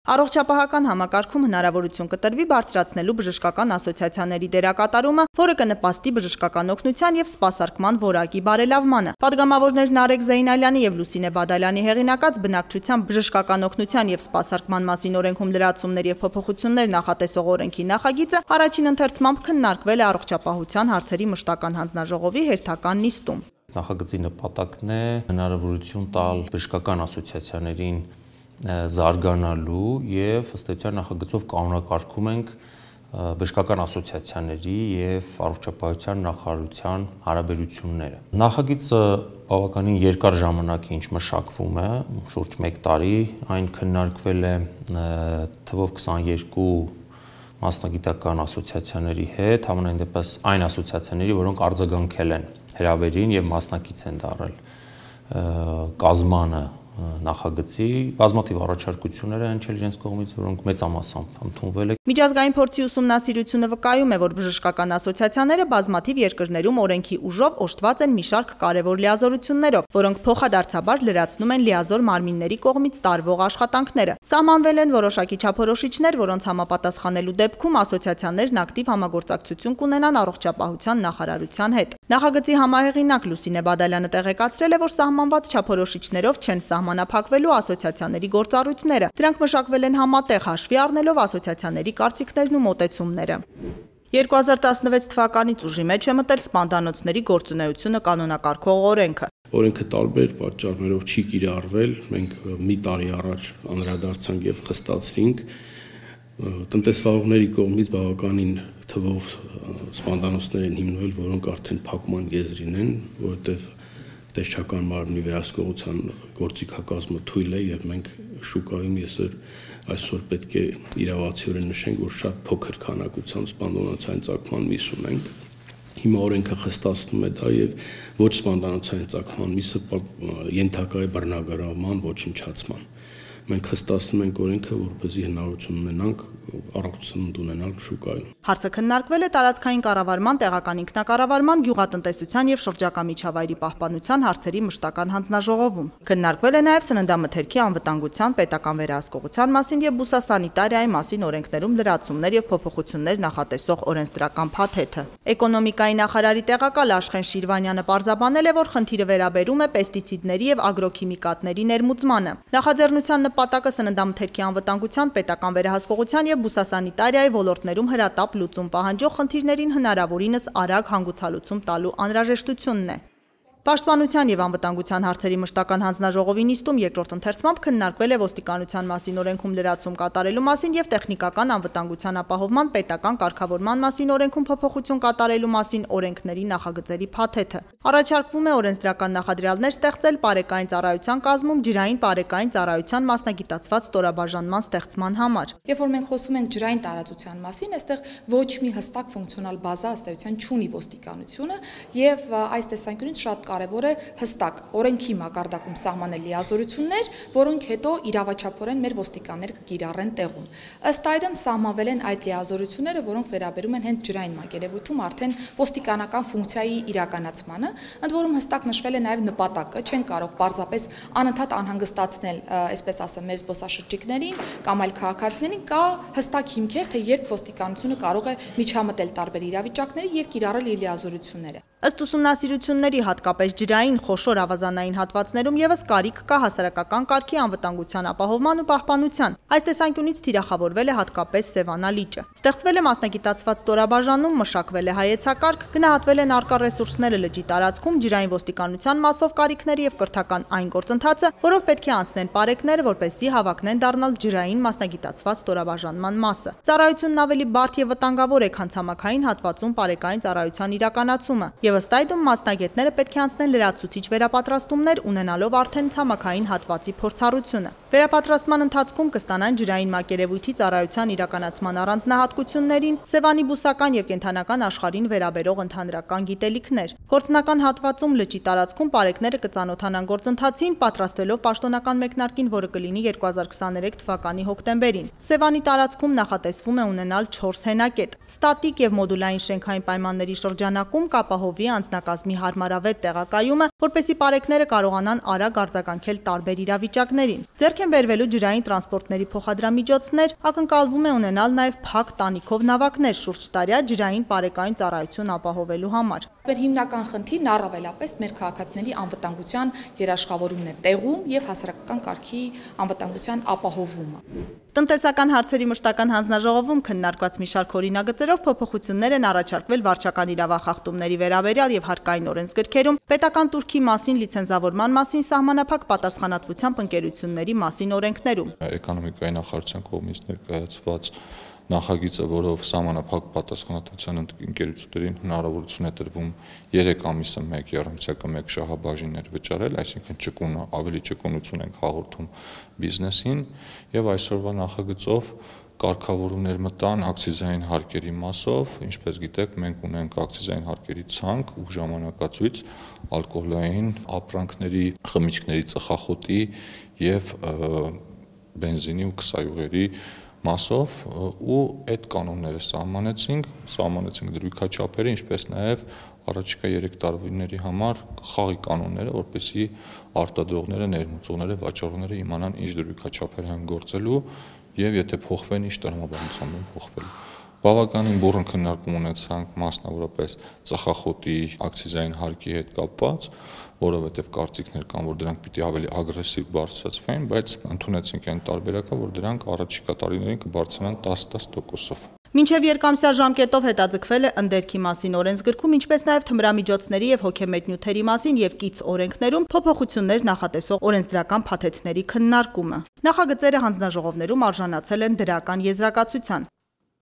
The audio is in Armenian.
Առողջապահական համակարգում հնարավորություն կտրվի բարձրացնելու բժշկական ասոցիացիաների դերակատարումը, որը կնպաստի բժշկական օգնության և սպասարկման որակի բարելավմանը։ Պատգամավորներն Արեգ Զեյնալյանի և Լուսինե Բադալյանի հեղինակած բնակչության բժշկական օգնության և սպասարկման մասին օրենքում լրացումներ և փոփոխություններ նախատեսող օրենքի նախագիծը առաջին ընթերցմամբ քննարկվել է առողջապահության հարցերի մշտական հանձնաժողովի հերթական նիստում։ Նախագծի նպատակն է հնարավորություն տալ բժշկական ասոցիացիաներին զարգանալու և ըստ էության նախագծով կանոնակարգում ենք բժշկական ասոցիացիաների և առողջապահության նախարարության հարաբերությունները։ Նախագիծը բավականին երկար ժամանակ ինչ մշակվում է, շուրջ 1 տարի, այն քննարկվել է թվով 22 մասնագիտական ասոցիացիաների հետ, համենայն դեպս այն ասոցիացիաների, որոնք արձագանքել են հրավերին և մասնակից են դառել կազմանը նախագծի, բազմաթիվ առաջարկություններ են հնչել իրենց կողմից, որոնք մեծամասամբ ընդունվել են։ Միջազգային փորձի ուսումնասիրությունը վկայում է, որ բժշկական ասոցիացիաները բազմաթիվ երկրներում օրենքի ուժով օժտված են մի շարք կարևոր լիազորություններով, որոնք փոխադարձաբար լրացնում են լիազոր մարմինների կողմից տարվող աշխատանքները։ Սահմանվել են որոշակի չափորոշիչներ, որոնց համապատասխանելու դեպքում ասոցիացիաներն ակտիվ համագործակցություն կունենան առողջապահության նախարարության հետ։ Նախագծի համահեղինակ Լուսինե Բադալյանը տեղեկացրել է, որ սահմանված չափորոշիչներով չեն սահմանափակվելու ասոցիացիաների գործառույթները։ Դրանք մշակվել են համատեղ հաշվի առնելով ասոցիացիաների կարծիքներն ու մոտեցումները։ 2016 թվականից ուժի մեջ է մտել սպանդանոցների գործունեությունը կանոնակարգող օրենքը։ Օրենքը տարբեր պատճառներով չի կիրառվել, մենք մի տարի առաջ անդրադարձանք եւ խստացրինք տնտեսվարողների կողմից բավականին թվով սպանդանոցներ են հիմնվել, որոնք արդեն փակման եզրին են, որովհետեւ տեսչական մարմնի վերահսկողության գործիքակազմը թույլ է եւ մենք շուկայում այսօր պետք է իրավացիորեն նշենք, որ շատ փոքր քանակությամբ սպանդանոցային ծագման միս ունենք։ Հիմա օրենքը խստացնում է դա եւ ոչ սպանդանոցային ծագման միսը ենթակա է բռնագրավման, ոչնչացման։ Մենք խստացնում ենք օրենքը, որպեսզի հնարավորություն ունենանք առողջություն ունենալ շուկայում։ Հարցը քննարկվել է տարածքային կառավարման, տեղական ինքնակառավարման, գյուղատնտեսության եւ շրջակա միջավայրի պահպանության հարցերի մշտական հանձնաժողովում։ Քննարկվել է նաեւ սննդամթերքի անվտանգության, պետական վերահսկողության մասին եւ բուսասանիտարիայի մասին օրենքներում լրացումներ եւ փոփոխություններ նախատեսող օրենսդրական փաթեթը։ Էկոնոմիկայի նախարարի տեղակալ Աշխեն Շիրվանյանը պարզաբանել է, որ խնդիրը վերաբերում է պեստիցիդների եւ ագրոքիմիկատների ներմուծմանը։ Նախաձեռնության նպատակը սննդամթերքի անվտանգության, պետական վերահսկողության եւ բուսասանիտարիայի ոլորտներում հրատապ լուծում պահանջող խնդիրներին հնարավորինս արագ հանգուցալուծում տալու անհրաժեշտությունն է։ Պաշտպանության եւ անվտանգության հարցերի մշտական հանձնաժողովի նիստում երկրորդ ընթերցմամբ քննարկվել է ոստիկանության մասին օրենքում լրացում կատարելու մասին եւ տեխնիկական անվտանգության ապահովման պետական կարգավորման մասին օրենքում փոփոխություն կատարելու մասին օրենքների նախագծերի փաթեթը։ Առաջարկվում է օրենսդրական նախադրյալներ ստեղծել պարեկային ծառայության կազմում ջրային պարեկային ծառայության մասնագիտացված ստորաբաժանման ստեղծման համար։ Երբ որ մենք խոսում ենք ջրային տարածության մասին, այստեղ ոչ մի հստակ ֆունկցիոնալ բազա ըստ էության չունի ոստիկանությունը եւ այս տեսանկյունից շատ կարևոր է հստակ օրենքի մակարդակում սահմանել լիազորություններ, որոնք հետո իրավաչափորեն մեր ոստիկաններ կկիրառեն տեղում։ Ըստ այդմ սահմանվել են այդ լիազորությունները, որոնք վերաբերում են հենց ջրային մակերևույթում արդեն ոստիկանական ֆունկցիայի իրականացմանը, ընդ որում հստակ նշվել է նաև նպատակը, չեն կարող պարզապես անընդհատ անհանգստացնել, այսպես ասեմ, մեր զբոսաշրջիկներին կամ այլ քաղաքացիներին, կա հստակ հիմքեր, թե երբ ոստիկանությունը կարող է միջամտել տարբեր իրավիճակների եւ կիրառել իր լիազորությունները։ Ըստ ուսումնասիրությունների հատկապես ջրային խոշոր ավազանային հատվածներում եւս կարիք կա հասարակական կարգի անվտանգության ապահովման ու պահպանության։ Այս տեսանկյունից թիրախավորվել է հատկապես Սևանա լիճը։ Ստեղծվել է մասնագիտացված ստորաբաժանում, մշակվել է հայեցակարգ, գնահատվել են առկա ռեսուրսները լճի տարածքում, ջրային ոստիկանության մասով կարիքները եւ կրթական այն գործընթացը, որով պետք է անցնեն պարեկները, որպեսզի հավակնեն դառնալ ջրային մասնագիտացված ստորաբաժանման մասը։ Ծառայությունն ավելի բարդ եւ վտանգավոր է, քան ցամաքային հատվածում պարեկային ծառայության իրականացումը։ Եվ ըստ այդմ մասնագետները պետք է անցնեն լրացուցիչ վերապատրաստումներ ունենալով արդեն ցամաքային հատվածի փորձառությունը։ Վերապատրաստման ընթացքում կստանան ջրային մակերևույթի ծառայության իրականացման առանձնահատկություններին, Սևանի բուսական եւ կենդանական աշխարհին վերաբերող ընդհանրական գիտելիքներ։ Գործնական հատվածում լճի տարածքում պարեկները կծանոթանան գործընթացին, պատրաստվելով պաշտոնական մեկնարկին, որը կլինի 2023 թվականի հոկտեմբերին։ Սևանի տարածքում նախատեսվում է ունենալ 4 հենակետ։ Ստատիկ եւ մոդուլային շենքային պայմանների շրջանակում կապահովվի ապահովի անձնակազմի հարմարավետ տեղակայումը, որպեսզի պարեկները կարողանան արագ արձագանքել տարբեր իրավիճակներին։ Ձեռք են բերվելու ջրային տրանսպորտների փոխադրամիջոցներ, ակնկալվում է ունենալ նաև փակ տանիքով նավակներ շուրջ տարյա ջրային պարեկային ծառայություն ապահովելու համար։ Մեր հիմնական խնդիրն առավելապես մեր քաղաքացիների անվտանգության երաշխավորումն է տեղում եւ հասարակական կարգի անվտանգության ապահովումը։ Տնտեսական հարցերի մշտական հանձնաժողովում քննարկված մի շարք օրինագծերով փոփոխություններ են առաջարկվել վարչական իրավախախտումների վերաբերյալ եւ հարկային օրենսգրքերում, պետական турքի մասին լիցենզավորման մասին սահմանափակ պատասխանատվությամբ ընկերությունների մասին օրենքներում։ Էկոնոմիկայի նախարարության կողմից ներկայացված նախագիծը, որով սահմանափակ պատասխանատվության ընկերություններին հնարավորություն է տրվում 3 ամիսը մեկ երամսյակը մեկ շահաբաժիններ վճարել, այսինքն ճկունը ավելի ճկունություն ենք հաղորդում բիզնեսին եւ այսօրվա նախագծով կարգավորումներ մտան ակցիզային հարկերի մասով, ինչպես գիտեք, մենք ունենք ակցիզային հարկերի ցանկ ու ժամանակացույց ալկոհոլային ապրանքների, խմիչքների, ծխախոտի եւ բենզինի ու քսայուղերի մասով ու այդ կանոնները սահմանեցինք դրույքաչափերը, ինչպես նաև առաջիկա 3 տարիների համար խաղի կանոնները, որպեսզի արտադրողները, ներմուծողները, վաճառողները իմանան ինչ դրույքաչափեր են գործելու եւ եթե փոխվեն, ինչ տրամաբանությամբ են փոխվելու։ Բավականին բուռն քննարկում ունեցանք մասնավորապես ծխախոտի ակցիզային հարկի հետ կապված, որովհետև կարծիքներ կան, որ դրանք պիտի ավելի ագրեսիվ բարձրացվեն, բայց ընդունեցինք այն տարբերակը, որ դրանք առաջիկա տարիներին կբարձրանան 10%-ով։ Մինչև երկամսյա ժամկետով հետաձգվել է ընդերքի մասին օրենսգրքում, ինչպես նաև թմրամիջոցների եւ հոգեմետ նյութերի մասին եւ կից օրենքներում փոփոխություններ նախատեսող օրենսդրական փաթեթների քննարկումը։ Նախագծերը հանձնաժողովներում արժանացել են դրական եզրակացության։